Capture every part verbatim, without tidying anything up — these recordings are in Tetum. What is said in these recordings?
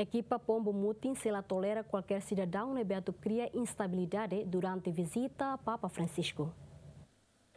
Ekipa Pombu Mutin sei la tolera kualkér sidadaun ne'ebé atu kria instabilidade durante vizita Papa Francisco.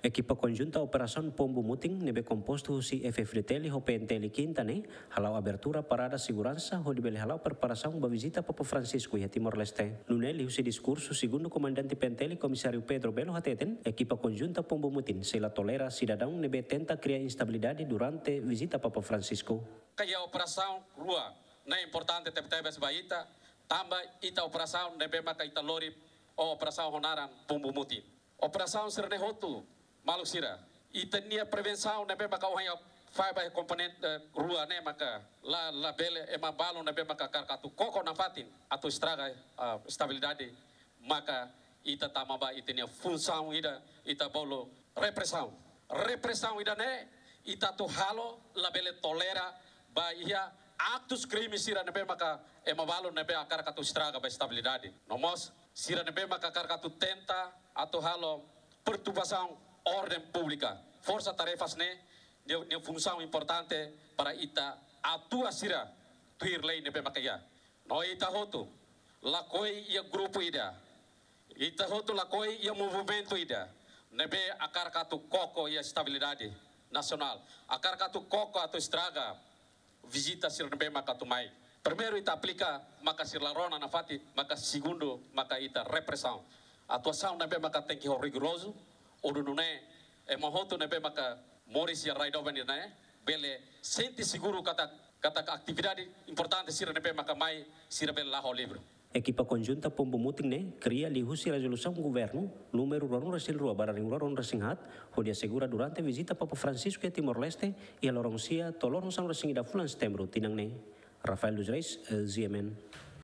Ekipa konjunta Operasaun Pombu Mutin ne'ebé kompostu husi F-FDTL ho P N T L Kinta ne'e hala'o abertura parada seguransa hodi bele hala'o preparasaun ba vizita Papa Francisco iha Timor-Leste. Nune'e liuhusi diskursu segundu komandante P N T L Komisáriu Pedro Belo hateten, ekipa konjunta Pombu Mutin sei la tolera sidadaun ne'ebé tenta kria instabilidade durante vizita Papa Francisco. Kayak operasaun rua ne'e importante tebetebes ba ita, tanba ita operasaun ne'ebé maka ita lori, o operasaun ho naran Pombu Mutin. Operasaun sira-ne'e hotu, maluk sira, ita-nia prevensaun ne'ebé maka ohin ha'u fahe ba komponente, eh, rua ne'e maka la, labele ema balu ne'ebé maka hakarak atu koko nafatin atu estraga, ah, estabilidade, maka ita tama ba ita-nia funsaun ida, ita bolu represaun. Represaun ida-ne'e ita atu halo, labele tolera ba iha aktus krime sira ne'ebé maka ema balu ne'ebé hakarak atu estraga ba estabilidade. No mós sira ne'ebé maka hakarak atu tenta atu halo perturbasaun orden públika. Forsa tarefas ne'e, nia, nia funsaun importante para ita atua sira tuir lei ne'ebé maka iha. No ita hotu lakohi iha grupu ida. Ita hotu lakohi iha movimentu ida ne'ebé hakarak atu koko iha estabilidade nasionál. Hakarak atu koko atu estraga vizita sira ne'ebé maka atu mai. Primeiru ita aplika maka sira la rona nafatin, maka segundu maka ita represaun. Atuasaun ne'ebé maka tenke ho rigorozu, hodi nune'e ema hotu ne'ebé maka moris iha rai doben ne'e bele sente seguru katak, katak atividade importante sira ne'ebé maka mai sira bele la'o ho livre. Ekipa konjunta Pombu Mutin ne'e kria liuhusi rezolusaun governu númeru ruanulu-resin-rua barra rihun rua ruanulu-resin-haat, hodi asegura durante vizita Papa Francisco iha Timor-Leste iha loron sia to'o loron sanulu-resin-ida fulan Setembru tinan ne'e. Rafael dos Reis, eh, G M N.